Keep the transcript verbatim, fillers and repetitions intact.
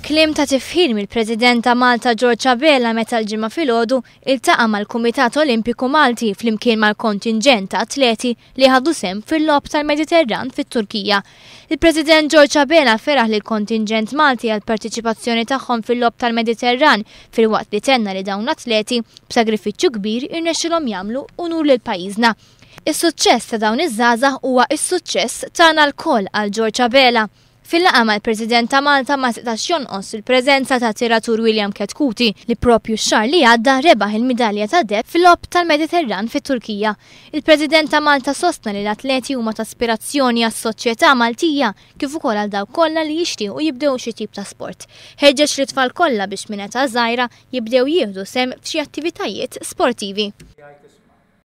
Kliem ta' tifħir mill-President ta' Malta George Abela meta l-Ġimgħa filgħodu iltaqa' mal-Kumitat Olimpiku Malti flimkien mal-kontinġent ta' atleti li ħadu sehem fil-Logħob tal-Mediterran fit-Turkija. Il-President George Abela feraħ lill-kontinġent Malti għall-parteċipazzjoni tagħhom fil-Logħob tal-Mediterran filwaqt li tenna li dawn l-atleti b'sagrifiċċju kbir irnexxilhom jagħmlu unur lil pajjiżna. Is-suċċess ta' dawn iż-żgħażagħ huwa s-suċċess tagħna lkoll, qal George Abela. Fil-laqgħa mal-President ta' Malta ma setax jonqos il-preżenza ta' tiratur William Chetcuti li propju x-xahar li għadda rebaħ il-midalja ta' deheb fil-Logħob tal-Mediterran fit-Turkija. Il-President ta' Malta sostna li l-atleti huma ta' ispirazzjoni għas-soċjetà Maltija kif ukoll għal dawk kollha li jixtiequ jibdew xi tip ta' sport. Ħeġġeġ lit-tfal kollha biex minn età żgħira jibdew jieħdu sehem f'xi attivitajiet sportivi.